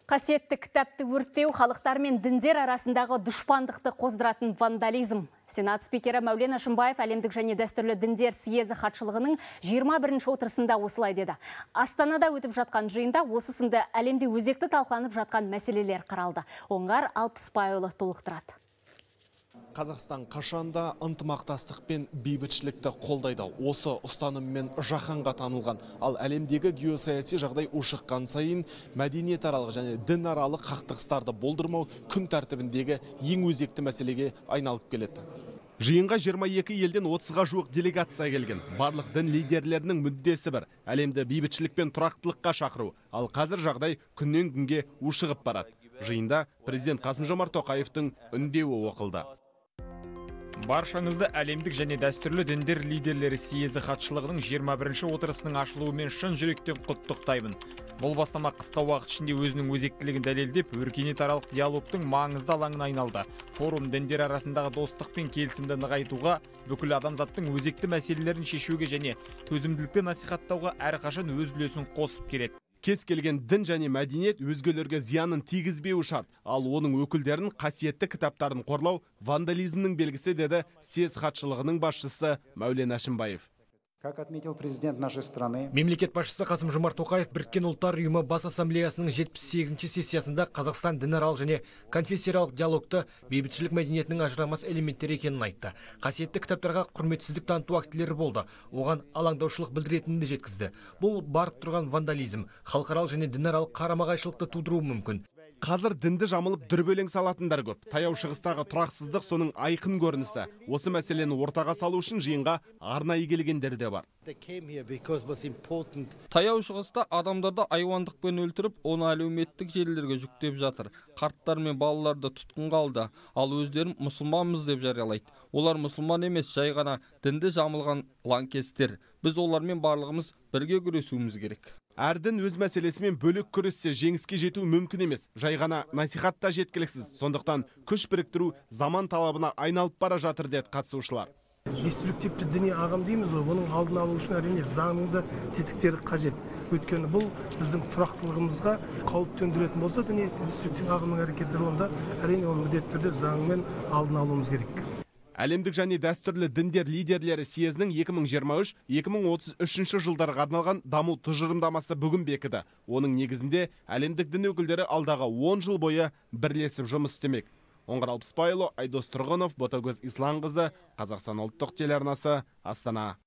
Қасиетті кітапты өрттеу халықтар мен діндер арасындағы дұшпандықты қоздыратын вандализм. Сенат спикері Мәулен Әшімбаев әлемдік және дәстүрлі діндер съезі хатшылығының 21-ші отырысында осылай деді. Астанада өтіп жатқан жиында осы сынды әлемде өзекті талқыланып жатқан мәселелер қаралды. Оңғар Алпысбайұлы толықтырады. Қазақстан қашанда ынтымақтастық пен бейбітшілікті қолдайды. Осы ұстаныммен жаһанға танылған. Ал әлемдегі геосаяси жағдай ушыққан сайын мәдениетаралық және дінаралық қақтығыстарды болдырмау күн тәртібіндегі ең өзекті мәселеге айналып келеді. Жиынға 22 елден 30-ға жуық делегация келген. Барлық дін лидерлерінің мүддесі бір. Әлемді бейбітшілік пен тұрақтылыққа шақыру. Ал қазір жағдай күннен күнге ушығып барады. Жиында президент Қасым-Жомарт Тоқаевтың үндеуі оқылды. Баршаңызды әлемдік және дәстүрлі діндер лидерлері съезі хатшылығының 21-ші отырысының ашылуымен шын жүректен құттықтаймын. Бұл бастама қысқа уақыт ішінде өзінің өзектілігін дәлелдеп, өркениетаралық диалогтың маңызды алаңына айналды. Форум діндер арасындағы достық пен келісімді нығайтуға, бүкіл адамзаттың өзекті мәселелерін шешуге және төзімділікті насихаттауға әрқашан өз үлесін қосып келеді. Кез келген дін және мәдениет өзгелерге зиянын тигізбеуі шарт, ал оның өкілдерін қасиетті кітаптарын қорлау вандализмнің белгісі, деді съез хатшылығының басшысы Мәулен Әшімбаев. Как отметил президент нашей страны, мемлекет басшысы Қасым-Жомарт Тоқаев Біріккен ұлттар ұйымы бас ассамблеясының 78-ші сессиясында Қазақстан дінаралық және конфессияаралық диалогты бейбітшілік мәдениетінің ажырамас элементтері екенін айтты. Қасиетті кітаптарға құрметсіздік таныту актілері болды. Оған алаңдаушылық білдіретінін де жеткізді. Бұл барып тұрған вандализм, халықаралық және дінаралық қарама-қайшылықты тудыруы мүмкін. Қазір дінді жамылып дүрбелең салатындар көп. Таяу шығыстағы тұрақсыздық соның айқын көрінісі. Осы мәселені ортаға салу үшін жиынға арнайы келгендер де бар. Таяу шығыста адамдарды айуандықпен өлтіріп, оны әлеуметтік желілерге жүктеп жатыр. Қарттар мен балаларды тұтқынға алды, ал өздерін мұсылманмыз деп жариялайды. Олар мұсылман емес, жай ғана дінді жамылған лаңкестер. Біз олармен барлығымыз бірге күресуіміз керек. Әр дін өз мәселесімен бөлек күрессе жеңіске жету мүмкін емес. Жай ғана насихатта жеткіліксіз. Сондықтан күш біріктіру заман талабына айналып бара жатыр, деді қатысушылар. Деструктивті діни ағым дейміз ғой, бұның алдын алу үшін әрине заңның да тетіктері қажет. Өйткені бұл біздің тұрақтылығымызға қауіп төндіретін болса, діни деструктив ағымның әрекеттері, онда әрине оның міндетті түрде заңмен алдын алуымыз керек. Әлемдік және дәстүрлі діндер лидерлері съезінің 2023-2033 жылдарға арналған даму тұжырымдамасы бүгін бекіді. Оның негізінде әлемдік дін өкілдері алдағы 10 жыл бойы бірлесіп жұмыс істемек. Оңғар Алпысбайұлы, Айдос Тұрғынов, Ботагөз Исланқызы, Қазақстан ұлттық телеарнасы, Астана.